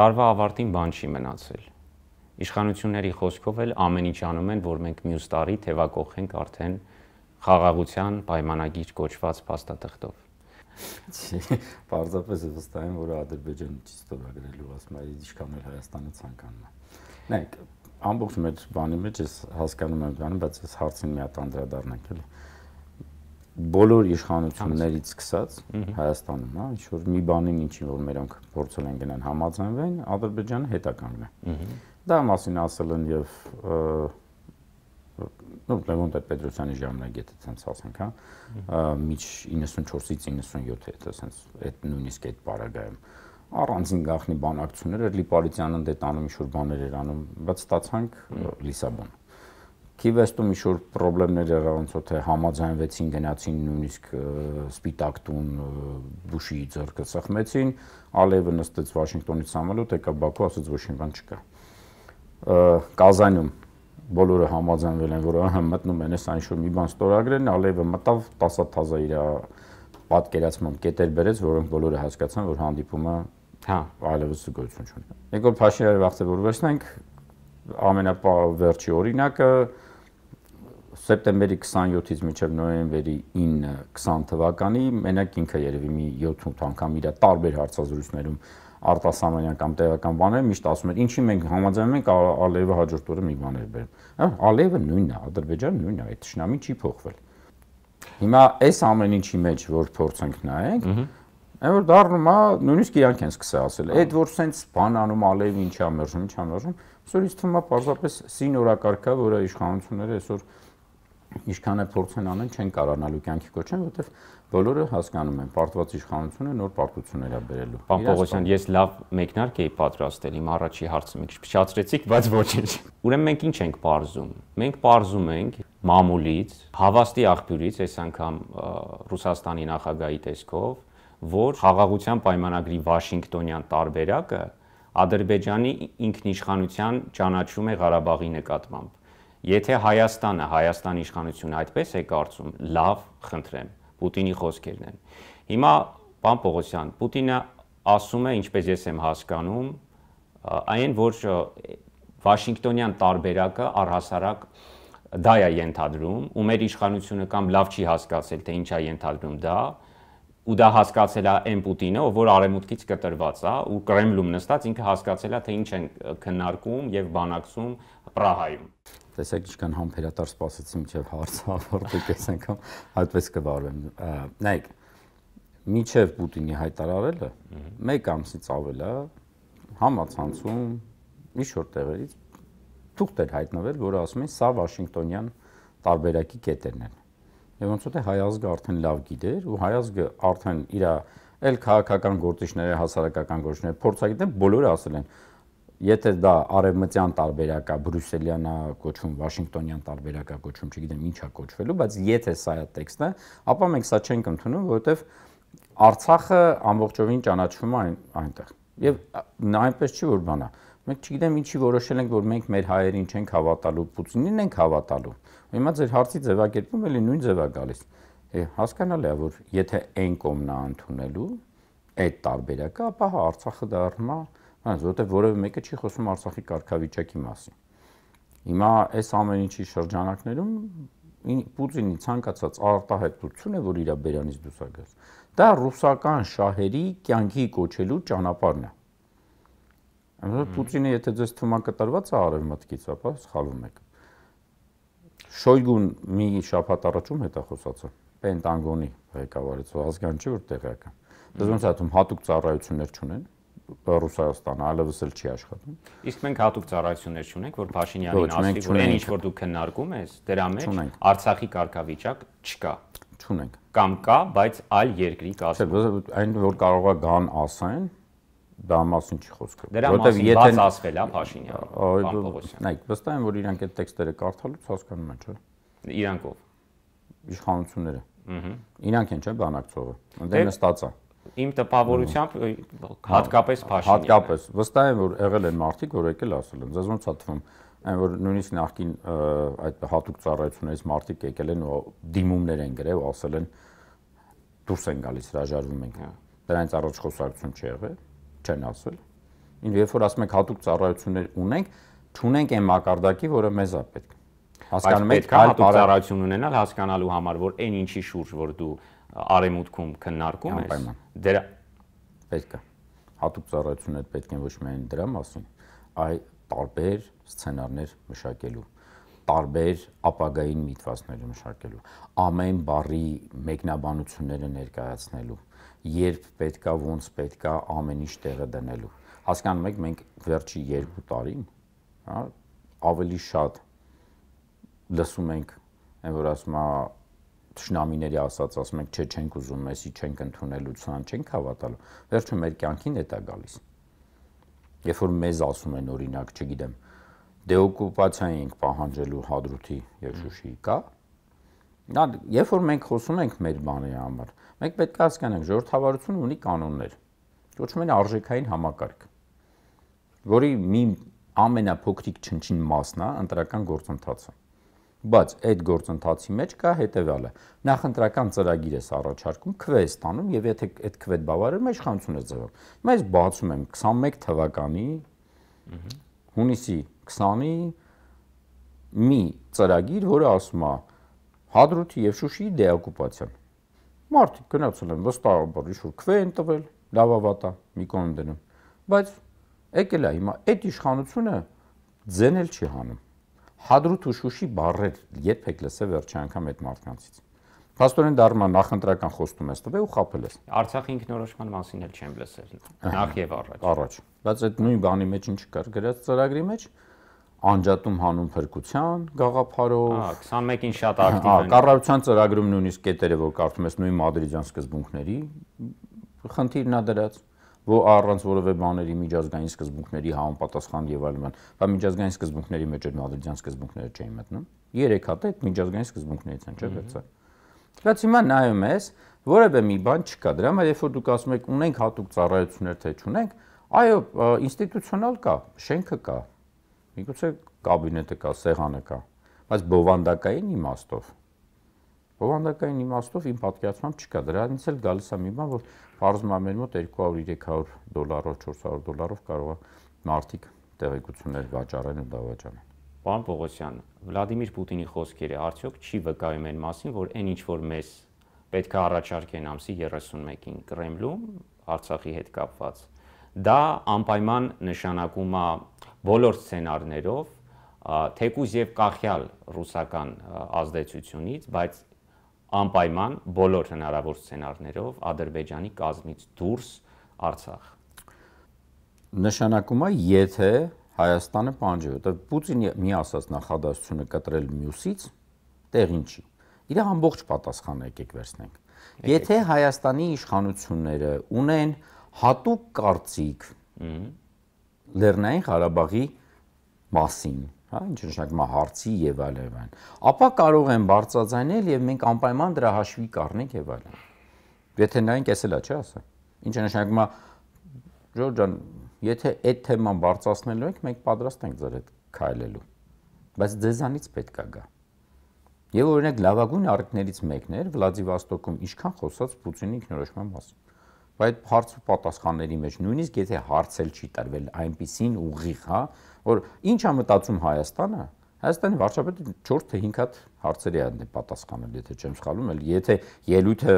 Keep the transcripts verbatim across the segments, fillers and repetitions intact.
տարվա ավարտին բան չի մնացել։ Իշխանությունների խոսքով էլ ամեն ինչ անում են, որ մենք մյուս տարի թևակողենք արդեն խաղաղության պայմանագիր կոչված փաստաթղթով։ Պարզապես վստահ եմ, որ Ադրբեջանը չի ստորագրելու, ասում է, ինչքան էլ Հայաստանը ցանկանում է։ Նայեք, ամբողջ մեր բանի մեջ ես հասկանում եմ բանը, բայց ես հարցին մի հատ անդրադառնանք էլի։ Բոլոր իշխանություններից սկսած Հայաստանում, հա, ինչ որ մի բանին ինչին որ մերոնք փորձել են գնան համաձայնվեն, Ադրբեջանը հետ է կանգնել։ Դա մասին ասել են եւ նո Լևոն Տեր-Պետրոսյանի ժամանակը այդպես ասենք, հա, միջ իննսունչորսից իննսունյոթ է, այդպես այդ նույնիսկ այդ պարագայում առանձին գաղտնի բանակցություններ էր Լիպարիտյանն դե տանում ինչ-որ բաներ էր անում, բայց ստացանք Լիսաբոն։ Քիվեստում ինչ-որ խնդիրներ եղան, ոնց որ թե համաձայնվեցին, գնացին նույնիսկ Սպիտակ տուն Բուշի ձեռքը սխմեցին, Ալիևը նստեց Վաշինգտոնից համալուտ, եկավ Բաքու, ասաց ոչ մի բան չկա։ Կազանում բոլորը համաձայնվել են, որ ահա մտնում են այս ինչ-որ մի բան ստորագրեն, Ալիևը մտավ տասը թազա իր պատկերացմամբ կետեր բերեց, որոնք բոլորը հասկացան, որ հանդիպումը հա այլևս գոյություն չունի։ Նիկոլ Փաշինյանի վաղտե որ վերցնենք ամենավերջի օրինակը սեպտեմբերի քսանյոթից մինչև նոյեմբերի ինը քսան թվականի մենակ ինքը երևի մի յոթ-ութ անգամ իր տարբեր հարցազրույցներում արտասահմանյան կամ տեղական բաներ միշտ ասում էր ինչի մենք համաձայնում ենք Ալիևը հաջորդ օրը մի բաներ բերում։ Հա Ալիևը նույնն է, Ադրբեջանը նույնն է, այդ ճշնամին չի փոխվել։ Հիմա այս ամեն ինչի մեջ որ փորձենք նայենք, այն որ դառնում է նույնիսկ իրանք են սկսել ասել, այդ որ սենց բան անում Ալիևը ինչի է մերժում, ինչի է մերժում, այսօր ինձ թվում է պարզապես սին օրակարգա, որը իշխանությունները այսօր ինչքան է փորձեն անեն, չեն կարողանալու կյանքի կոչեն, որովհետև բոլորը հասկանում են, պարտված իշխանությունը նոր պարտություններ է բերելու։ Պարոն Պողոսյան, ես լավ մեկնարկ էի պատրաստել, իմ առաջի հարցը մի քիչ փչացրեցիք, բայց ոչինչ։ Ուրեմն մենք ինչ ենք պարզում։ Մենք պարզում ենք մամուլից, հավաստի աղբյուրից, այս անգամ Ռուսաստանի նախագահի տեսքով, որ խաղաղության պայմանագրի Վաշինգտոնյան տարբերակը Ադրբեջանի ինքնիշխանության ճանաչում է Ղարաբաղի նկատմամբ։ Եթե Հայաստանը, Հայաստանի իշխանությունը այդպես է կարծում, լավ, խնդրեմ, Պուտինի խոսքերն են։ Հիմա, պարոն Պողոսյան, Պուտինը ասում է, ինչպես ես եմ հասկանում, այն, որ Վաշինգտոնյան տարբերակը առհասարակ դա է ենթադրում, ու մեր իշխանությունը կամ լավ չի հասկացել, թե ինչ է ենթադրում դա, ու դա հասկացել է այն Պուտինը, ով որ արևմուտքից կտրված է, ու Կրեմլում նստած ինքը հասկացել է, թե ինչ են քննարկում եւ բանակցում Պրահայում։ Տեսեք ինչքան համբերատար սպասեցի մինչև հարցը ավարտվի, այս անգամ այդպես կվարվեմ։ Նայեք, մինչև Պուտինի հայտարարելը մեկ ամսից ավել է համացանցում ինչ-որ տեղերից թուղթ էր հայտնվել, որը ասում են սա Վաշինգտոնյան տարբերակի կետերն են։ Եվ ոնց որ թե հայ ազգը արդեն լավ գիտեր, ու հայ ազգը արդեն իր այլ քաղաքական գործիչները, հասարակական գործիչները փորձագետներ բոլորը ասել են, եթե դա արևմտյան տարբերակա, բրյուսելյան է կոչվում, Վաշինգտոնյան տարբերակա կոչվում, չգիտեմ ինչ է կոչվելու, բայց եթե սա է տեքստը, ապա մենք սա չենք ընդունում, որովհետև Արցախը ամբողջովին ճանաչվում է այնտեղ։ Եվ այնպես չի որ բանա։ Մենք չգիտեմ ինչի որոշել ենք, որ մենք մեր հայերին չենք հավատալու, Պուտինին ենք հավատալու։ Հիմա ձեր հարցի ձևակերպում էլի նույն ձև է գալիս։ Հասկանալի է, որ եթե այն կողմն է ընդունելու այդ տարբերակը, ապա հա Արցախը դառնում է, որովհետև որևէ մեկը չի խոսում Արցախի կարգավիճակի մասին։ Հիմա այս ամեն ինչի շրջանակներում Պուտինի ցանկացած արտահայտությունը, որ իր բերանից դուրս է գալիս, դա ռուսական շահերի կյանքի կոչելու ճանապարհն է։ Այնպես Պուտինը եթե ձեզ թվում է կտրված է արևմտքից, ապա սխալվում եք։ Շոյգուն մի շաբաթ առաջում հետ է խոսացել Պենտագոնի ղեկավարից, ազգան չի որ տեղյակ է։ Դες ոնց է թվում հատուկ ծառայություններ չունեն Ռուսաստանը այլևս էլ չի աշխատում։ Իսկ մենք հատուկ ծառայություններ չունենք, որ Փաշինյանին ասի, որ այն ինչ որ դու քննարկում ես, դրա մեջ Արցախի կարգավիճակ չկա։ Չունենք։ Կամ կա, բայց այլ երկրի կազմում։ Այն որ կարող է գան ասեն, դա մասին չի խոսքը։ Դրա մասին բաց ասվել է Փաշինյանը։ Նայեք, վստահ եմ, որ իրանք այդ տեքստերը կարդալուց հասկանում են, չէ՞։ Իրանք ով։ Իշխանությունները։ Ահա։ Իրանք են, չէ՞, բանակցողը։ Այնտեղ նստած է։ Իմ տպավորությամբ հատկապես Փաշինյանը։ Հատկապես վստահ եմ, որ եղել են մարդիկ, որ եկել ասել են, ձեզ ոնց է թվում, այն որ նույնիսկ նախքին այդ հատուկ ծառայություններից մարդիկ եկել են ու դիմումներ են գրել ու ասել են դուրս են գալիս, հրաժարվում ենք։ Դրանից առաջ խոսակցություն չի եղել, չեն ասել։ Երբ որ ասում եք հատուկ ծառայություններ ունենք, չունենք այն մակարդակի, որը մեզ է պետք։ Հասկանում եք, հատուկ ծառայություն ունենալ հասկանալու համար, որ այն ինչի շուրջ, որ դու արևմուտքում քննարկում ես, դրա պետք է։ Հատուկ ծառայություններ պետք են ոչ միայն դրա մասին, այլ տարբեր սցենարներ մշակելու, տարբեր ապագային միտվածներ մշակելու, ամեն բառի մեկնաբանությունները ներկայացնելու, երբ պետքա, ոնց պետքա, ամեն ինչ տեղը դնելու։ Հասկանում եք, մենք վերջի երկու տարին, հա, ավելի շատ լսում ենք, այն որ ասում է թշնամիների ասած, ասում ենք, չէ, չենք ուզում, մեսի չենք ընդունելու, ցան չենք հավատալու։ Վերջում մեր կյանքին է դա գալիս։ Երբ որ մեզ ասում են, օրինակ, չգիտեմ, դեօկուպացիա ենք պահանջելու Հադրութի եւ Շուշիի, կա։ Դա երբ որ մենք խոսում ենք մեր բանի համար, մենք պետք է հասկանանք, ժողովրդավարությունը ունի կանոններ, կոչվում են արժեքային համակարգ, որի մի ամենափոքրիկ չնչին մասն է ընտրական գործընթացը։ Բայց այդ գործընթացի մեջ կա հետևյալը. նախընտրական ծրագիր ես առաջարկում, քվե ես ստանում եւ եթե այդ քվեդ բավարարում է, իշխանություն ես ձևում։ Հիմա ես բացում եմ քսանմեկ թվականի հունիսի քսանի մի ծրագիր, որը ասում է Հադրութի եւ Շուշիի դեօկուպացիան։ Մարդիկ գնացել են վստահաբար ինչ-որ քվե են տվել, լավավատա, մի կողմ դնում։ Բայց եկել է հիմա այդ իշխանությունը ձենել չի հանում։ Հադրութ ու Շուշի բառեր երբեք լսել վերջի անգամ այդ մարդկանցից։ Փաստորեն դառնա նախընտրական խոստում ես տվել ու խաբել ես։ Արցախի ինքնորոշման մասին էլ չեմ լսել։ Նախ եւ առաջ։ Առաջ։ Բայց այդ նույն բանի մեջ ինչ կար գրած ծրագրի մեջ անջատում հանուն փրկության գաղափարով։ Հա, քսանմեկին շատ ակտիվ են։ Կառավարության ծրագրում նույնիսկ կետերը, որ կարդում ես նույն մադրիդյան սկզբունքների խնդիրն է դրած, որ առանց որևէ բաների միջազգային սկզբունքների համապատասխան եւ այլն, բայց միջազգային սկզբունքների մեջ այդ մադրիդյան սկզբունքները չէին մտնում։ Երեք հատ այդ միջազգային սկզբունքներից են, չէ՞ վերցա։ Բայց հիմա նայում ես, որևէ մի բան չկա դրա համար, երբ որ դուք ասում եք ունենք հատուկ ծառայություններ, թե չունենք, այո, ինստիտուցիոնալ կա, շենքը կա, միգուցե կաբինետը կա, սեղանը կա, բայց բովանդակային իմաստով բովանդակային իմաստով իմ պատկերացմամբ չկա։ Դրանից էլ գալիս է մի բան, որ բարձում է մեր մոտ երկու հարյուր երեք հարյուր դոլարով, չորս հարյուր դոլարով կարող է մարդիկ տեղեկություններ վաճառեն ու դավաճանեն։ Պարոն Պողոսյան, Վլադիմիր Պուտինի խոսքերը արդյոք չի վկայում այն մասին, որ այն ինչ որ մեզ պետք է առաջարկեն ամսի երեսունմեկին Կրեմլում Արցախի հետ կապված, դա անպայման նշանակում է բոլոր սցենարներով, թեկուզ եւ կախյալ ռուսական ազդեցությունից, բայց անպայման բոլոր հնարավոր սցենարներով Ադրբեջանի կազմից դուրս Արցախ։ Նշանակում է, եթե Հայաստանը պահանջի, որտեղ Պուտինի մի ասած նախադասությունը կտրել մյուսից տեղին չի։ Իր ամբողջ պատասխանը եկեք վերցնենք։ Եթե Հայաստանի իշխանությունները ունեն հատուկ կարծիք Լեռնային Ղարաբաղի մասին, հա, ինչ նշանակում է հարցի եւ այլն, ապա կարող են բարձրաձայնել եւ մենք անպայման դրա հաշվի կառնենք եւ այլն։ Եթե նայենք, էս էլա չի ասա։ Ինչը նշանակում է, Ժորժ ջան, եթե այդ թեման բարձրացնելու ենք, մենք պատրաստ ենք ձեր հետ քայլելու։ Բայց ձեզանից պետք է գա։ Եվ օրինակ լավագույն առիթներից մեկն էր Վլադիվոստոկում ինչքան խոսած Պուտինի ինքնորոշման մասին։ Բայց հարց ու պատասխանների մեջ նույնիսկ եթե հարցել չի տրվել այնպիսին ուղիղ, հա, որ ինչ է մտածում Հայաստանը, Հայաստանի վարչապետը չորս թե հինգ հատ հարցերի է պատասխանել, եթե չեմ սխալվում, էլ եթե ելույթը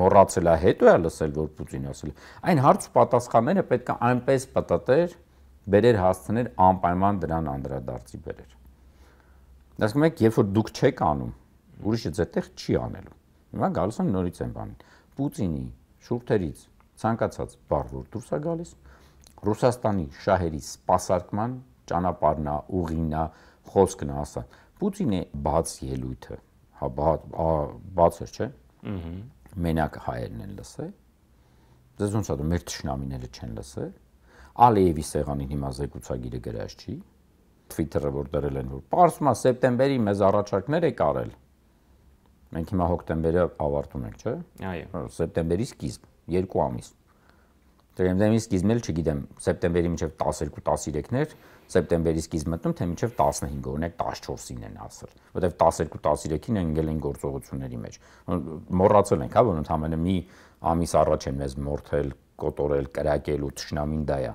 մոռացել է, հետո է լսել, որ Պուտինը ասել է, այն հարց ու պատասխանները պետք է այնպես պատտեր, բերեր հասցներ անպայման դրան անդրադարձի բերեր։ Ասում եք, երբ որ դուք չեք անում, ուրիշը ձերտեղ չի անելու։ Հիմա գալիս են նորից այն բանին։ Պուտինի շուրթերից ցանկացած բառ որ դուրս է գալիս, Ռուսաստանի շահերի սպասարկման ճանապարհն է, ուղին է, խոսքն է, ասա։ Պուտինի բաց ելույթը, հա բաց էր, չէ՞։ Ահա։ Մենակ հայերն են լսել։ Դες ոնց է, մեր թշնամիները չեն լսել։ Ալիևի սեղանին հիմա զեկուցագիրը գրած չի։ Twitter-ը որ դրել են, որ պարզվում է սեպտեմբերի մեզ առաջարկներ եք արել։ Մենք հիմա հոկտեմբերը ավարտում ենք, չէ՞։ Այո։ Սեպտեմբերի սկիզբ, երկու ամիս։ Սեպտեմբերի սկիզբն էլ չգիտեմ, սեպտեմբերի մինչև տասներկու տասներեքներ, սեպտեմբերի սկիզբ մտնում, թե մինչև տասնհինգ, օրինակ տասնչորսին են ասել, որտեղ տասներկու տասներեքին ընկել են գործողությունների մեջ։ Մոռացել ենք, հա, որ ընդհանրապես մի ամիս առաջ են մեզ մորթել, կոտորել, կրակել ու թշնամին դա է։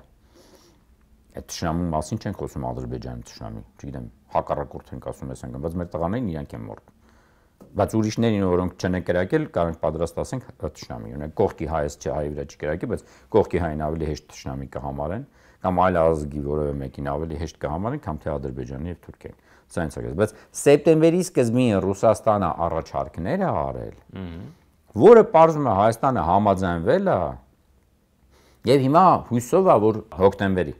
Այդ թշնամու մասին չենք խոսում Ադրբեջանի թշնամի, չգիտեմ, հակառակորդ ենք ասում ես անգամ, բայց մեր տղաներին իրանք են մորտ։ Բայց ուրիշներին, որոնք չեն կրակել, կարող պատրաստ ասենք թշնամի, ունեն կողքի հայից չէ, հայ վրա չի կրակել, բայց կողքի հային ավելի հեշտ թշնամի կհամարեն, կամ այլ ազգի որևէ մեկին ավելի հեշտ կհամարեն, քան թե Ադրբեջանը եւ Թուրքիան։ Սա ինձ է, բայց սեպտեմբերի սկզբին Ռուսաստանը առաջարկներ է արել, որը պարզվում է Հայաստանը համաձայնվել է, եւ հիմա հույսով է, որ հոկտեմբերի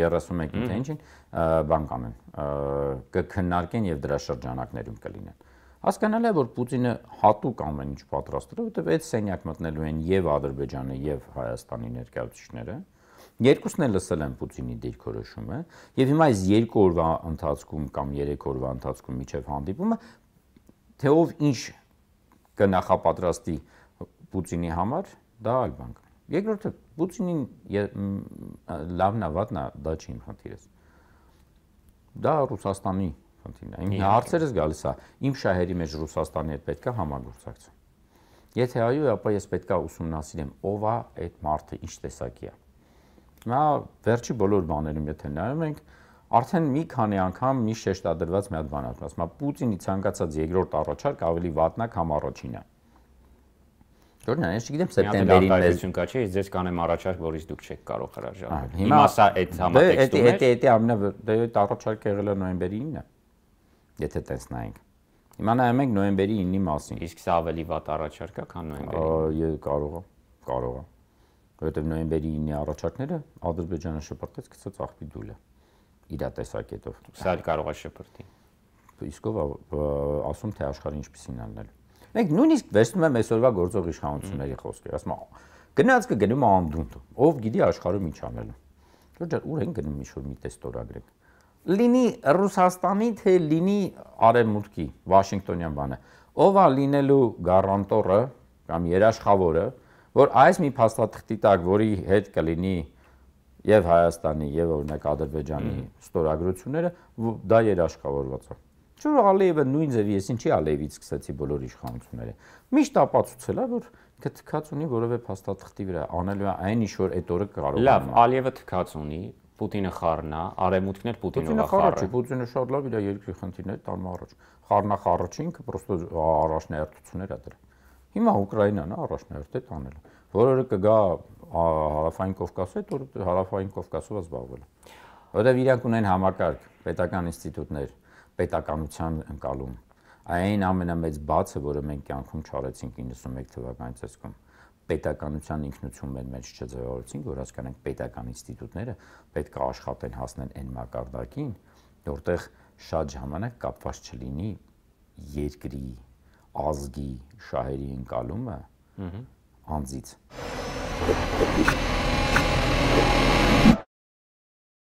երեսունմեկին թե ինչին բան կանեն, կքննարկեն եւ դրա շրջանակներում կլինեն։ Հասկանալի է, որ Պուտինը հատուկ ամեն ինչ պատրաստել է, որովհետեւ այդ սենյակ մտնելու են եւ Ադրբեջանը եւ Հայաստանի ներկայացուցիչները։ Երկուսն էլ լսել են Պուտինի դիրքորոշումը եւ հիմա այս երկու օրվա ընթացքում կամ երեք օրվա ընթացքում միջև հանդիպումը թե ով ինչ կնախապատրաստի Պուտինի համար, դա այլ բան է։ Երկրորդը Պուտինին լավն է, վատն է, դա չի իմ խնդիրս։ Դա Ռուսաստանի խնդիրն է։ Իմ հարցերս գալիս է, իմ շահերի մեջ Ռուսաստանի հետ պետք է համագործակցել։ Եթե այո, ապա ես պետք է ուսումնասիրեմ ով է այդ մարդը, ինչ տեսակի է։ Նա վերջի բոլոր բաներում եթե նայում ենք, արդեն մի քանի անգամ մի շեշտադրված մի հատ բան ասում, ասում Պուտինի ցանկացած երկրորդ առաջարկ ավելի վատնա, քան առաջինը։ Որն է, ես չգիտեմ սեպտեմբերին մեզ կա չէ, ես ձեզ կանեմ առաջարկ, որից դուք չեք կարող հրաժարվել։ Հիմա սա այդ համատեքստում է։ Դա դա ամենա դա առաջարկը եղել է նոյեմբերի ինը։ Եթե տեսնայինք։ Հիմա նայում ենք նոյեմբերի ինի մասին։ Իսկ սա ավելի վատ առաջարկ է, քան նոյեմբերի։ Ես կարող եմ, կարող եմ։ Որովհետև նոյեմբերի ինի առաջարկները Ադրբեջանը շփրտեց, գցեց աղբի դուլը իր տեսակետով։ Սա էլ կարող է շփրտի։ Իսկ ով ասում թե աշխարհը ինչպեսին անելու։ Մենք նույնիսկ վերցնում եմ այսօրվա գործող իշխանությունների խոսքերը, ասում եմ գնաց կգնում անդունդ, ով գիտի աշխարհում ինչ անելու։ Դուք ուր են գնում ինչ-որ մի տես ստորագրեք։ Լինի Ռուսաստանի թե լինի Արևմուտքի, Վաշինգտոնյան բանը, ով է լինելու գարանտորը կամ երաշխավորը, որ այս մի փաստաթղթի տակ, որի հետ կլինի եւ Հայաստանի եւ օրինակ Ադրբեջանի ստորագրությունները, դա երաշխավորված է։ Չէ՞ Ալիևը նույն ձևի ես ինչի Ալիևից սկսեցի բոլոր իշխանությունները։ Միշտ ապացուցել է, որ թքած ունի որևէ փաստաթղթի վրա, անելու է այն ինչ որ այդ օրը կարող է։ Լավ, Ալիևը թքած ունի, Պուտինը խառնա, Արևմուտքն էլ Պուտինով է խառը։ Պուտինը շատ լավ իր երկրի խնդիրները տանում առաջ։ Խառնա խառը ինքը պրոստո առաջնահերթություններ է դրա։ Հիմա Ուկրաինան է առաջնահերթ է տանել։ Որը կգա հարավային Կովկասը, այդ օրը հարավային Կովկասով է զբաղվել։ Որովհետև իրանք ունեն համակարգ, պետական ինստիտուտներ, պետականության ընկալում։ Այն ամենամեծ բացը, որը մենք կյանքում չարեցինք իննսունմեկ թվականի ցեսկում, պետականության ինքնություն մեր մեջ չձևավորեցինք, որ հասկանանք պետական ինստիտուտները պետք է աշխատեն հասնեն այն մակարդակին, որտեղ շատ ժամանակ կապված չլինի երկրի, ազգի, շահերի ընկալումը անձից։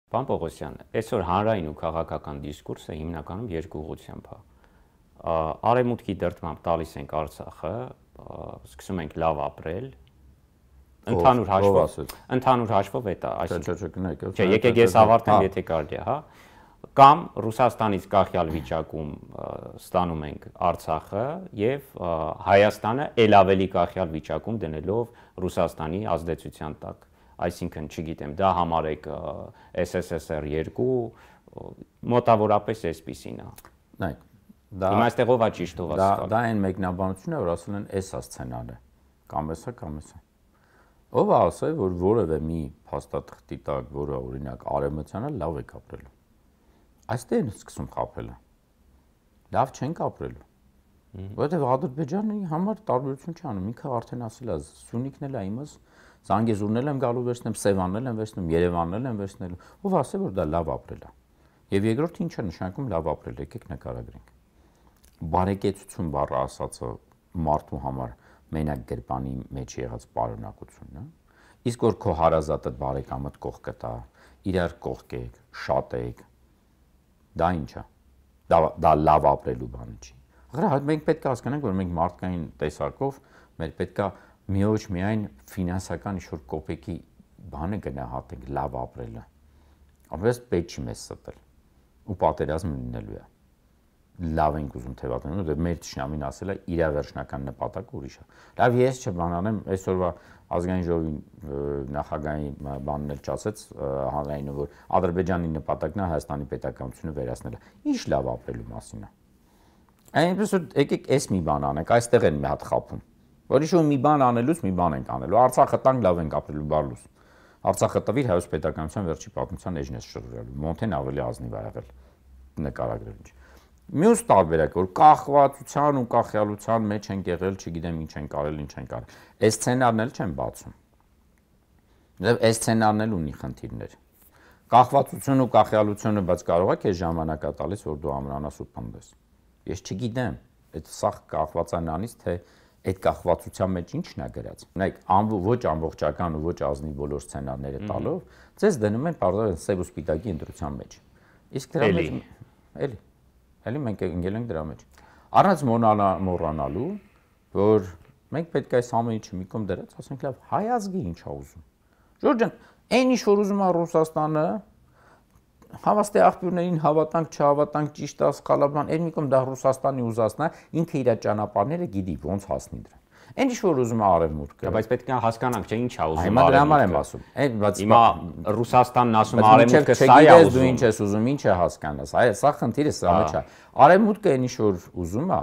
Պարոն Պողոսյան, այսօր հանրային ու քաղաքական դիսկուրսը հիմնականում երկու ուղղությամբ է։ Արևմուտքի դրդմամբ տալիս ենք Արցախը, սկսում ենք լավ ապրել։ Ընդհանուր հաշվով, ընդհանուր հաշվով է դա, այսինքն։ Չէ, եկեք ես ավարտեմ, եթե կարելի է, հա։ Կամ Ռուսաստանից կախյալ վիճակում ստանում ենք Արցախը եւ Հայաստանը ել ավելի կախյալ վիճակում դնելով Ռուսաստանի ազդեցության տակ։ Այսինքն, չգիտեմ, դա համարեք S S S R two, մոտավորապես այսպիսին է։ Նայեք, դա հիմա այստեղ ով է ճիշտ, ով է սխալ։ Դա այն մեկնաբանությունն է, որ ասել են S-ա սցենարը, կամ S-ա, կամ S-ա։ Ով է ասել, որ որևէ մի փաստաթղթի տակ, որը օրինակ արևմտյանը լավ է ապրելու։ Այստեղ են սկսում խաբելը։ Լավ չենք ապրելու։ Որովհետև Ադրբեջանի համար տարբերություն չի անում։ Ինքը արդեն ասել է, Սյունիքն էլ է իմս, Զանգեզուրն էլ եմ գալու վերցնեմ, Սևանն եմ վերցնում, Երևանն էլ եմ վերցնելու։ Ով ասել, որ դա լավ ապրել է։ Եվ երկրորդ ինչը նշանակում լավ ապրել, եկեք նկարագրենք։ Բարեկեցություն բառը ասածը մարդու համար մենակ գրպանի մեջ եղած պարունակությունն է։ Իսկ որ քո հարազատը բարեկամդ կողքը տա, իրար կողքեք, շատեք, դա ինչ է։ Դա դա լավ ապրելու բանը չի։ Ղրա մենք պետք է հասկանանք, որ մենք մարդկային տեսակով մեր պետք է միոչ միայն ֆինանսական ինչ-որ կոպեկի բանը գնահատենք լավ ապրելը։ Ամենից պետք չի մեզ ստել ու պատերազմ լինելու է։ լավ ենք ուզում թևակներում, դե մեր ճշնամին ասել է իր վերջնական նպատակը ուրիշ է։ Լավ, ես չբանանեմ, այսօրվա ազգային ժողովի նախագահի բանն էլ չասեց հանրայինը, որ Ադրբեջանի նպատակն է Հայաստանի պետականությունը վերացնելը։ Ինչ լավ ապրելու մասին է։ Այնպես որ եկեք էս մի բան անենք, այստեղ են մի հատ խափում։ Որ իշու մի բան անելուց մի բան ենք անելու։ Արցախը տանք լավ ենք ապրելու բալուս։ Արցախը տվիր հայոց պետականության վերջի պատմության էջն է շրջելու։ Մոնթեն ավելի ազնիվ ա եղել նկարագրել։ Մյուս տարբերակը որ կախվածության ու կախյալության մեջ են եղել, չգիտեմ ինչ են կարել, ինչ են կարել։ Այս սցենարն էլ չեն բացում։ Դե այս սցենարն էլ ունի խնդիրներ։ Կախվածություն ու կախյալությունը բայց կարող է քեզ ժամանակա տալիս, որ դու ամրանաս ու պնդես։ Ես չգիտեմ, այդ սա կախված է նրանից, թե այդ կախվածության մեջ ինչն է գրած։ Նայեք, ոչ ամբողջական ու ոչ ազնիվ բոլոր սցենարները տալով, ձեզ դնում են բարձր սև ու սպիտակի ընտրության մեջ։ Իսկ դրա մեջ էլի Էլի մենք ընկել ենք դրա մեջ։ Առանց մոռանալու, որ մենք պետք է այս ամեն ինչը մի կողմ դրած, ասենք լավ, հայ ազգի ինչ է ուզում։ Ժորժ ջան, այն ինչ որ ուզում է Ռուսաստանը, հավաստի աղբյուրներին հավատանք, չհավատանք, ճիշտ է, սխալ է, բան, այն մի կողմ դա Ռուսաստանի ուզածն է, ինքը իր ճանապարհները գիտի ոնց հասնի դրան։ Այն ինչ որ ուզում է արևմուտքը, բայց պետք է հասկանանք, չէ, ինչ է ուզում արևմուտքը։ Հիմա դրա համար եմ ասում։ Այդ բայց հիմա Ռուսաստանն ասում է արևմուտքը սա է ուզում։ Դու ինչ ես ուզում, ինչ է հասկանաս։ Այ սա խնդիրը սա մեջ է։ Արևմուտքը այն ինչ որ ուզում է,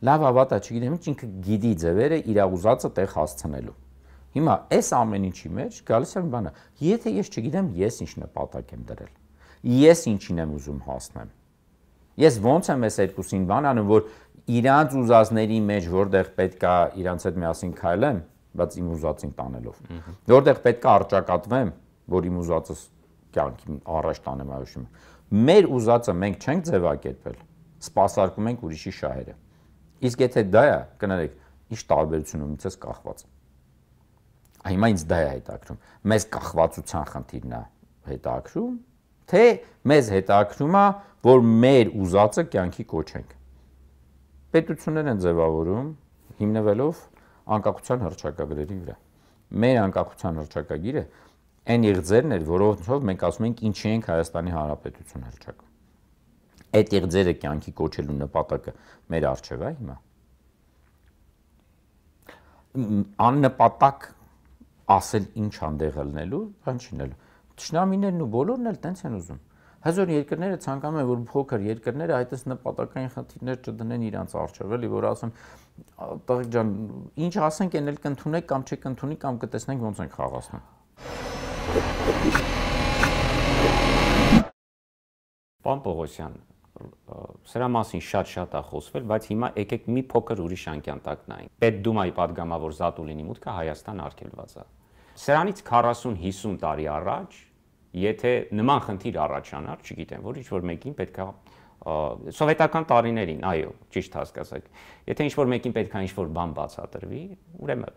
լավ հավատա, չգիտեմ ինչ, ինքը գիտի ձևերը իր ուզածը տեղ հասցնելու։ Հիմա այս ամեն ինչի մեջ գալիս է մի բանը։ Եթե ես չգիտեմ, ես ինչ նպատակ եմ դրել։ Ես ինչին եմ ուզում հասնեմ։ Ես ոնց եմ այս երկուսին բան անում, որ իրանց ուզածների մեջ որտեղ պետքա իրանց հետ միասին քայլեմ, բայց իմ ուզածին տանելով։ Որտեղ պետքա արճակատվեմ, որ իմ ուզածս կյանքի առաջ տանեմ այո։ Մեր ուզածը մենք չենք ձևակերպել, սպասարկում ենք ուրիշի շահերը։ Իսկ եթե դա է, կներեք, ինչ տարբերություն ունի ցես կախված։ Հիմա ինձ դա է հետաքրում։ Մեզ կախվածության խնդիրն է հետաքրում, թե մեզ հետաքրում է, որ մեր ուզածը կյանքի կոչենք։ Պետություններ են ձևավորում հիմնվելով անկախության հռչակագրերի վրա։ Մեր անկախության հռչակագիրը այն իղձերն էր, որոնցով մենք ասում ենք ինչի ենք Հայաստանի Հանրապետություն հռչակում։ Այդ իղձերը կյանքի կոչելու նպատակը մեր առջև է հիմա։ Աննպատակ ասել ինչ անդեղ ելնելու, բան չինելու։ Ճշնամիներն ու բոլորն էլ տենց են ուզում։ Հազար երկրները ցանկանում են, որ փոքր երկրները այդպես նպատակային խնդիրներ չդնեն իրանց առջև, էլի որ ասեն, տղեկ ջան, ինչ ասենք, այն էլ կընդունեք կամ չեք ընդունի կամ կտեսնենք ոնց ենք խաղացնում։ Պարոն Պողոսյան, սրա մասին շատ-շատ է խոսվել, բայց հիմա եկեք մի փոքր ուրիշ անկյան տակ նայենք։ Պետդումայի падգամավոր Զատուլինի մուտքը Հայաստան արգելված է։ Սրանից քառասուն-հիսուն տարի առաջ, եթե նման խնդիր առաջանար, չգիտեմ, որ ինչ-որ մեկին պետք է սովետական տարիներին, այո, ճիշտ հասկացաք։ Եթե ինչ-որ մեկին պետք է ինչ-որ բան բացատրվի, ուրեմն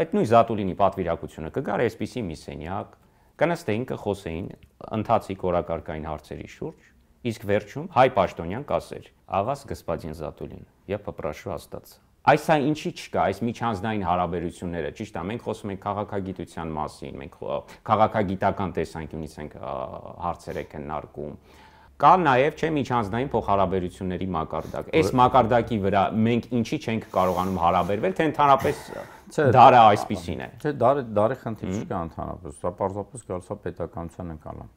այդ նույն Զատուլինի պատվիրակությունը կգար այսպիսի մի սենյակ, կնստեին, կխոսեին ընթացիկ օրակարգային հարցերի շուրջ, իսկ վերջում հայ պաշտոնյան կասեր. «Աղաս господин Զատուլին, я попрошу остаться»։ Այս է ինչի չկա, այս միջանձնային հարաբերությունները, ճիշտ է, մենք խոսում ենք քաղաքագիտության մասին, մենք քաղաքագիտական տեսանկյունից ենք հարցեր եք քննարկում։ Կա նաև չէ միջանձնային փոխհարաբերությունների մակարդակ։ Այս մակարդակի վրա մենք ինչի չենք կարողանում հարաբերվել, թե ընդհանրապես դարը այսպիսին է։ Չէ, դարը դարի խնդիր չկա ընդհանրապես, դա պարզապես գալիս է պետականության ընկալան։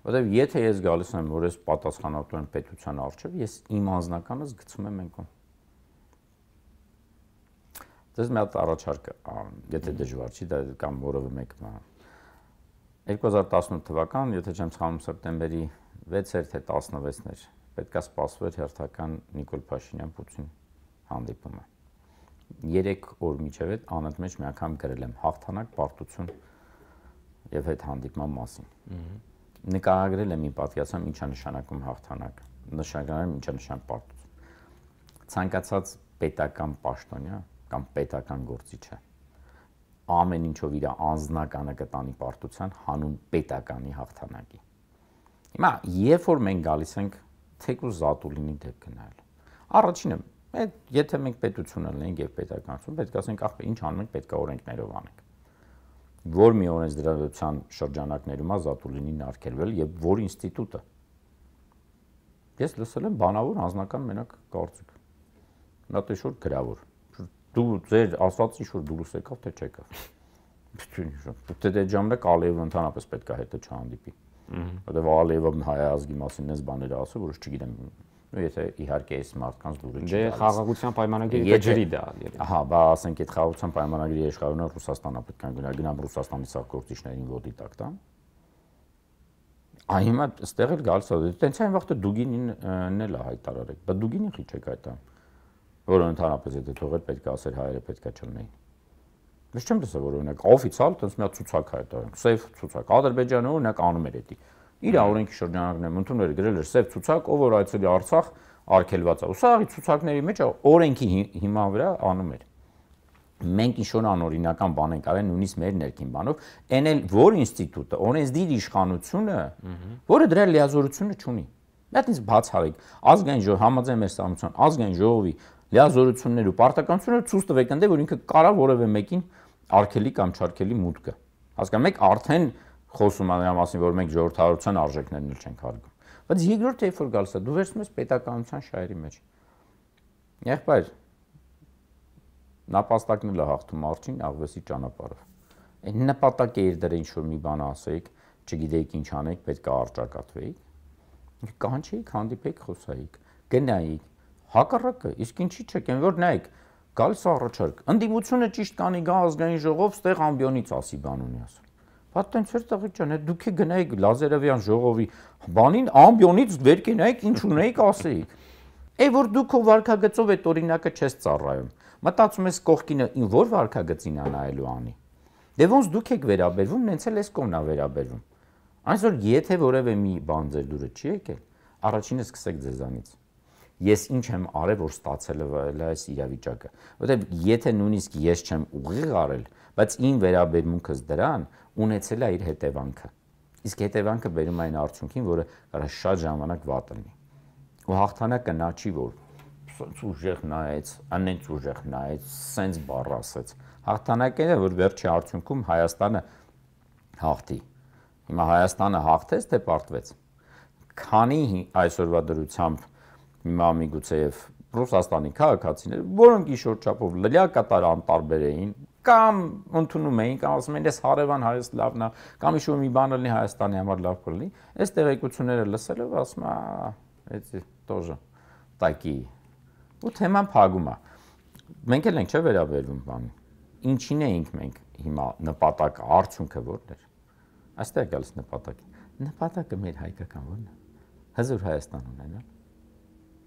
Որտեւ եթե ես գալիս եմ, որ ես պատասխանատու եմ պետության առջև, ես իմ անձնականս գցում եմ այնքան։ Դες մի հատ առաջարկ, եթե դժվար չի, դա կամ որևէ մեկը։ երկու հազար տասնութ թվական, եթե չեմ սխալվում, սեպտեմբերի վեցեր թե տասնվեցն էր, պետքա սպասվեր հերթական Նիկոլ Փաշինյան-Պուտին հանդիպումը։ Երեք օր միջև այդ անընդմեջ մի անգամ գրել եմ հաղթանակ, պարտություն եւ այդ հանդիպման մասին։ Նկարագրել եմ, պատկերացրեմ ինչա նշանակում հաղթանակ, նշանակում եմ ինչա նշանակում պարտություն։ Ցանկացած պետական պաշտոնյա կամ պետական գործիչը ամեն ինչով իր անձնականը կտանի պարտության հանուն պետականի հաղթանակի։ Հիմա երբ որ մենք գալիս ենք թեկուզ Զատուլինի դեպքը նայել, առաջինը, այդ եթե մենք պետություն ունենք եւ պետականություն, պետք է ասենք, ախ, ինչ անում ենք, պետք է օրենքներով անենք։ Որ մի օրենսդրության շրջանակներում է Զատուլինին արգելվել եւ որ ինստիտուտը։ Ես լսել եմ բանավոր անձնական մենակ կարծիք։ Նա տեսոր գրավոր։ Դու ձեր ասածի շուտ դուրս եկավ թե չեկավ։ Դե դե ժամանակ Ալիևը ընդհանրապես պետք է հետը չհանդիպի։ Որտեղ Ալիևը հայ ազգի մասին էս բաները ասում, որ չգիտեմ, ու եթե իհարկե այս մարդկանց դուրը չի։ Դե խաղաղության պայմանագրի ջրի դա։ Ահա, բա ասենք այդ խաղաղության պայմանագրի իշխանությունը Ռուսաստանն պետք է գնա գնամ Ռուսաստանի սա գործիչներին ոդի տակ տան։ Այ հիմա այստեղ էլ գալիս է, տենց այն վաղը Դուգինին էլ է հայտարարել, բայց Դուգինին խի չեք այդա, որը ընդհանրապես եթե թողեր պետք է ասեր հայերը պետք է չլինեին։ Ես չեմ տեսել որ օրինակ օֆիցիալ տենց մի ցուցակ հայտարարել, սև ցուցակ, Ադրբեջանը օրինակ անում էր դա։ Իր օրենքի շրջանակներում ընդունել էր գրել էր սև ցուցակ, ով որ այցելի Արցախ արգելված է։ Ու սա ցուցակների մեջ օրենքի հիման վրա անում էր։ Մենք ինչ-որ անօրինական բան ենք արել նույնիսկ մեր ներքին բանով, այն էլ որ ինստիտուտը, օրենսդիր իշխանությունը, որը դրա լիազորությունը չունի։ Դա ինձ բացառիկ ազգային ժողովի համաձայն մեր ստամության ազգային ժողովի լիազորություններ ու պարտականությունները ցույց տվեք ընդ որ ինքը կարա որևէ մեկին արգելի կամ չարգելի մուտքը։ Հասկանում եք, արդեն խոսում է նրա մասին, որ մենք ժողովրդավարության արժեքներն էլ չենք հարգում։ Բայց երկրորդ երբ որ գալիս է, դու վերցնում ես պետականության շահերի մեջ։ Եղբայր նապաստակն էլ հաղթում արջին աղվեսի ճանապարհով։ Այն նպատակը իր դրա ինչ-որ մի բան ասեիք, չգիտեիք ինչ անեք, պետք է արճակատվեիք։ Կանչեիք, հանդիպեիք, խոսայիք, գնայիք։ Հակառակը, իսկ ինչի՞ չեք, այն որ նայեք, գալիս առաջարկ։ Ընդդիմությունը ճիշտ կանի գա ազգային ժողով, ստեղ ամբիոնից ասի բան ունի ասում։ Բա տենց էր տղի ջան, դուք է գնայիք Լազարևյան ժողովի բանին ամբիոնից վեր կենայիք, ինչ ունեիք ասեիք։ Է որ դուք ով վարկագծով այդ օրինակը չես ծառայում։ Մտածում ես կողքինը ին որ վարկագծին է նայելու անի։ Դե ոնց դուք եք վերաբերվում, նենց էլ էս կողմն է վերաբերվում։ Այսօր եթե որևէ մի բան ձեր դուրը չի եկել, առաջինը սկսեք ձեզանից։ Ես ինչ եմ արել, որ ստացել է այս իրավիճակը, որովհետև եթե նույնիսկ ես չեմ ուղիղ արել, բայց իմ վերաբերմունքս դրան ունեցել է իր հետևանքը։ Իսկ հետևանքը բերում է այն արդյունքին, որը կարա շատ ժամանակ վատ լինի։ Ու հաղթանակը նա չի, որ սենց ուժեղ նայեց, անենց ուժեղ նայեց, սենց բառ ասեց։ Հաղթանակը է, որ վերջի արդյունքում Հայաստանը հաղթի։ Հիմա Հայաստանը հաղթեց, թե պարտվեց։ Քանի այսօրվա դրությամբ հիմա միգուցեև Ռուսաստանի քաղաքացիներ, որոնք իշոր չափով լիակատար անտարբեր էին, կամ ընդունում էին, կամ ասում են, «Էս հարևան Հայոց լավն է», կամ իշոր մի բան լինի Հայաստանի համար լավ կլինի, այս տեղեկությունները լսելով ասում է, «Էդի тоже такие»։ Ու թեման փակում է։ Մենք էլ ենք չէ վերաբերվում բանի։ Ինչին էինք մենք հիմա նպատակը, արդյունքը որն էր։ Այստեղ գալիս նպատակը։ Նպատակը մեր հայկական որն է։ Հզոր Հայաստան ունենալ։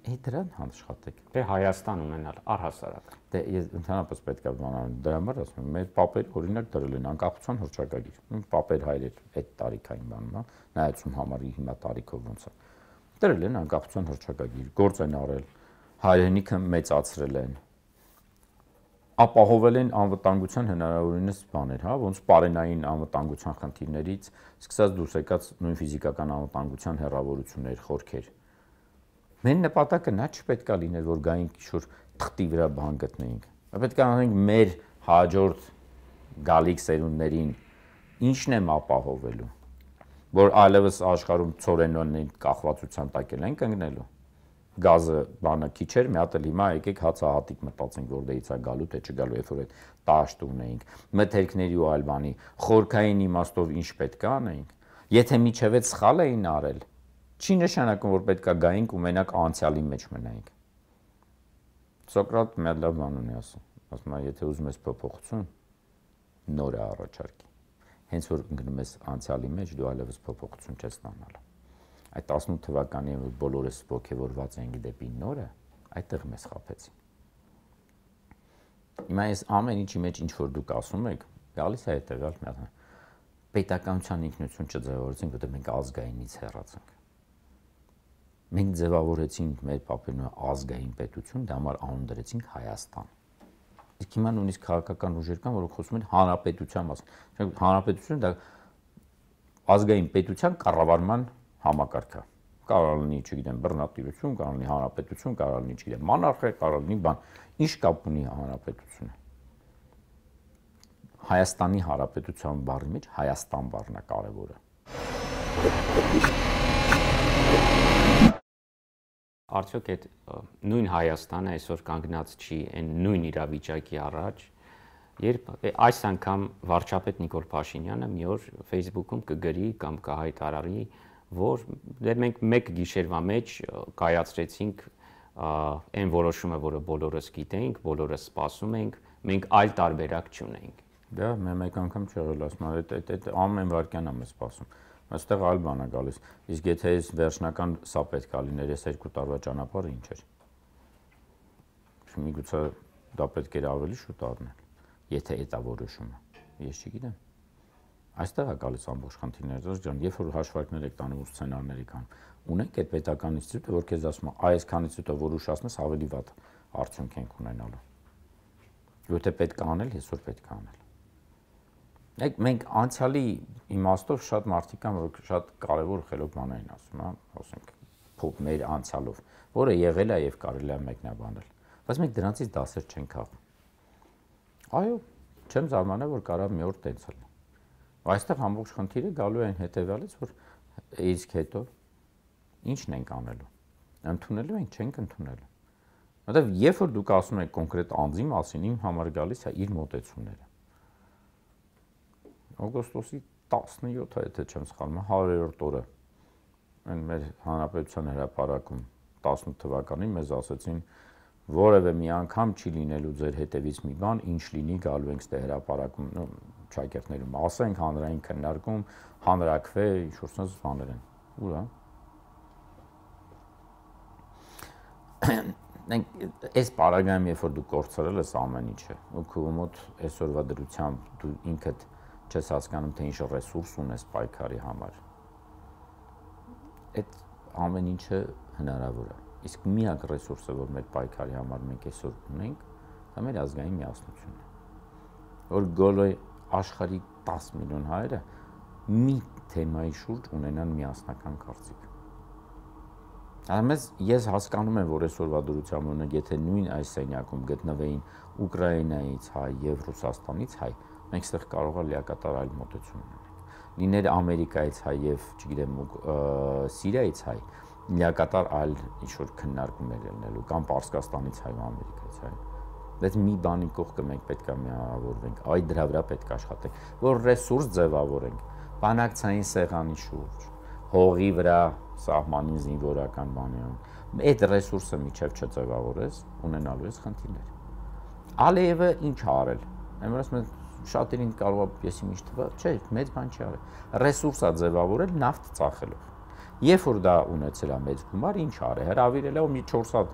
Է դրան հանաշխատեք։ Դե Հայաստան ունենալ առհասարակ։ Դե ես ընդհանրապես պետք է բանալ դրա համար ասում եմ, մեր պապերը օրինակ դրել են անկախության հռչակագիր։ Իմ պապեր հայրեր այդ տարիքային բանում, հա, նայեցում համարի հիմա տարիքով ոնց է։ Դրել են անկախության հռչակագիր, գործ են արել, հայրենիքը մեծացրել են։ Ապահովել են անվտանգության հնարավորինս բաներ, հա, ոնց պարենային անվտանգության խնդիրներից, սկսած դուրս եկած նույն ֆիզիկական անվտանգության հեռավորություններ, խորքեր։ Մեր նպատակը նա չպետք է լիներ, որ գայինք ինչ-որ թղթի վրա բան գտնեինք։ Պետք է անենք մեր հաջորդ գալիք սերունդներին ինչն եմ ապահովելու, որ այլևս աշխարհում ծորենոնին կախվածության տակ են կանգնելու։ Գազը բանը քիչ էր, մի հատ էլ հիմա եկեք հացահատիկ մտածենք, որտեղից է գալու, թե չգալու, երբ որ այդ տաշտ ունեինք, մթերքների ու այլ բանի, խորքային իմաստով ինչ պետք է անեինք։ Եթե միջև այդ սխալ էին արել, չի նշանակում, որ պետք է գայինք ու մենակ անցյալի մեջ մնայինք։ Սոկրատ մի հատ լավ բան ունի ասում, ասում է, եթե ուզում ես փոփոխություն, նոր է առաջարկի։ Հենց որ ընկնում ես անցյալի մեջ, դու այլևս փոփոխություն չես ստանալու։ Այդ տասնութ թվականին, որ բոլորս ոգևորված էինք դեպի նորը, այդտեղ մեզ խաբեցին։ Հիմա այս ամեն ինչի մեջ ինչ որ դուք ասում եք, գալիս է հետևյալ մի հատ պետականության ինքնություն չձևավորեցինք, որտեղ մենք ազգայինից հեռացանք։ Մենք ձևավորեցինք մեր պապերն ազգային պետություն, դա համար անուն դրեցինք Հայաստան։ Իսկ հիմա նույնիսկ քաղաքական ուժեր կան, որոնք խոսում են հանրապետության մասին։ Հանրապետությունը դա ազգային պետության կառավարման համակարգը։ Կարող լինի, չգիտեմ, բռնատիրություն, կարող լինի հանրապետություն, կարող լինի, չգիտեմ, monarchia, կարող լինի բան։ Ինչ կապ ունի հանրապետությունը։ Հայաստանի հանրապետության բառի մեջ Հայաստան բառն է կարևորը։ արդյոք այդ նույն Հայաստանը այսօր կանգնած չի այն նույն իրավիճակի առաջ, երբ այս անգամ վարչապետ Նիկոլ Փաշինյանը մի օր Facebook-ում կգրի կամ կհայտարարի, որ դե մենք մեկ գիշերվա մեջ կայացրեցինք այն որոշումը, որը բոլորս գիտենք, բոլորս սպասում ենք, մենք այլ տարբերակ չունենք։ Դա մեկ անգամ չեղել ասում, այդ ամեն վարքյան եմ սպասում։ Այստեղ այլ բան է գալիս։ Իսկ եթե այս վերջնական սա պետք է լիներ, այս երկու տարվա ճանապարհը ինչ էր։ Միգուցե դա պետք էր ավելի շուտ առնել, եթե դա որոշումը։ Ես չգիտեմ։ Այստեղ է գալիս ամբողջ խնդիրները, դժ ջան, երբ որ հաշվարկներ եք տանում ու սցենարների կան, ունենք այդ պետական ինստիտուտը, որ քեզ ասում է, այս քանիսը որ ուշացնես ավելի վատ արդյունք ենք ունենալու։ Եթե պետք է անել, այսօր պետք է անել։ Մենք անցյալի իմաստով շատ մարդիկ կան, որ շատ կարևոր խելոք բաներ են ասում, հա, ասենք փոփ մեր անցյալով, որը եղել է եւ կարելի է մեկնաբանել։ Բայց մենք դրանից դասեր չենք քաղում։ Այո, չեմ զարմանում, որ կարող մի օր տենց լինի։ Այստեղ ամբողջ խնդիրը գալու է այն հետեւյալից, որ իսկ հետո ի՞նչն ենք անելու։ Ընդունելու ենք, չենք ընդունելու։ Որտեւ երբ որ դուք ասում եք կոնկրետ անձի մասին, իմ համար գալիս է իր մոտեցումները։ Օգոստոսի տասնյոթը, եթե չեմ սխալվում, հարյուրորդ օրը այն մեր հանրապետության հրապարակում տասնութ թվականին մեզ ասեցին, որևէ մի անգամ չի լինելու ձեր հետևից մի բան, ինչ լինի, գալու ենք ստե հրապարակում, շակերտներում ասենք, հանրային քննարկում, հանրակրվե, ինչ-որ sense բաներ են։ Ուր է։ Այս պարագայում, երբ որ դու կորցրել ես ամեն ինչը, ու քո մոտ այսօրվա դրությամբ դու ինքդ չես հասկանում, թե ինչ ռեսուրս ունես պայքարի համար։ Այդ ամեն ինչը հնարավոր է։ Իսկ միակ ռեսուրսը, որ մեր պայքարի համար մենք այսօր ունենք, դա մեր ազգային միասնությունն է։ Որ գոլոյ աշխարհի տասը միլիոն հայերը մի թեմայի շուրջ ունենան միասնական կարծիք։ Ամենից ես հասկանում եմ, որ այսօրվա դրությամբ ունենք, եթե նույն այս սենյակում գտնվեին Ուկրաինայից հայ եւ Ռուսաստանից հայ, մենք ստեղ կարող է լիակատար այլ մոտեցում ունենանք։ Լիներ Ամերիկայից հայ եւ, չգիտեմ, Սիրիայից հայ, լիակատար այլ ինչ-որ քննարկումներ ելնելու, կամ Պարսկաստանից հայ ու Ամերիկայից հայ։ Բայց մի բանի կողքը մենք պետք է միավորվենք, այ դրա վրա պետք է աշխատենք, որ ռեսուրս ձևավորենք, բանակցային սեղանի շուրջ, հողի վրա սահմանին զինվորական բանյան։ Այդ ռեսուրսը միջև չձևավորես, ունենալու ես խնդիրներ։ Ալիևը ինչ ա արել։ Այն որ ասում են շատերին կարող է եսի միշտ թվա, չէ, մեծ բան չի արել։ Ռեսուրս ա ձևավորել նավթ ծախելով։ Երբ որ դա ունեցել է մեծ գումար, ինչ արել, հրավիրել է ու մի չորս հատ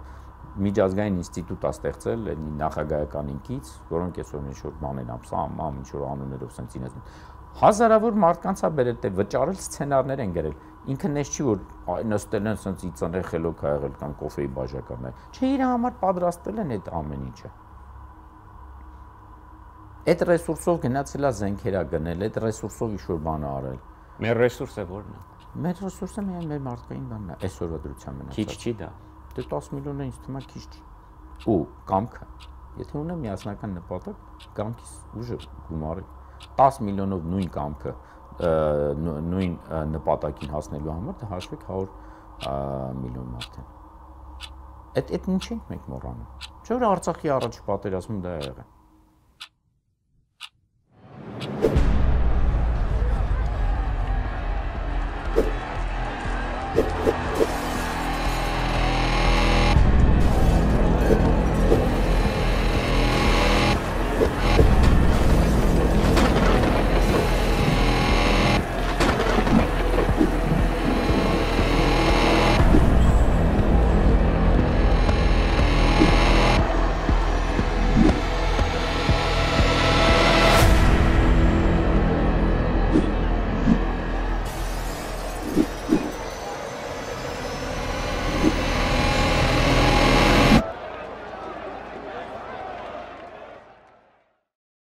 միջազգային ինստիտուտ ա ստեղծել նախագահական ինքից, որոնք այսօր ինչ-որ բաներ ամ, սա ամ, ինչ-որ անուններով սենց ինես։ Հազարավոր մարդկանց ա բերել, թե վճարել սցենարներ են գրել։ Ինքը նես չի, որ նստել են սենց իծաներ խելոք ա եղել կամ կոֆեի բաժականներ։ Չէ, իր համար պատրաստել են այդ ամեն ինչը։ Այդ ռեսուրսով գնացել է զենքեր ա գնել, այդ ռեսուրսով ինչ-որ բան ա արել։ Մեր ռեսուրսը ո՞րն է։ Մեր ռեսուրսը միայն մեր մարդկային բանն է, այսօրվա դրությամբ մնացած։ Քիչ չի դա։ Դե տասը միլիոնը ինձ թվում է քիչ չի։ Ու կամքը։ Եթե ունեմ միասնական նպատակ, կամքից ուժը գումարի տասը միլիոնով նույն կամքը նույն նպատակին հասնելու համար դա հաշվեք հարյուր միլիոն մարդ են։ Այդ այդ ինչ ենք մենք մոռանում։ Չէ՞ որ Արցախի առաջ պատերազմում դա եղել է։ You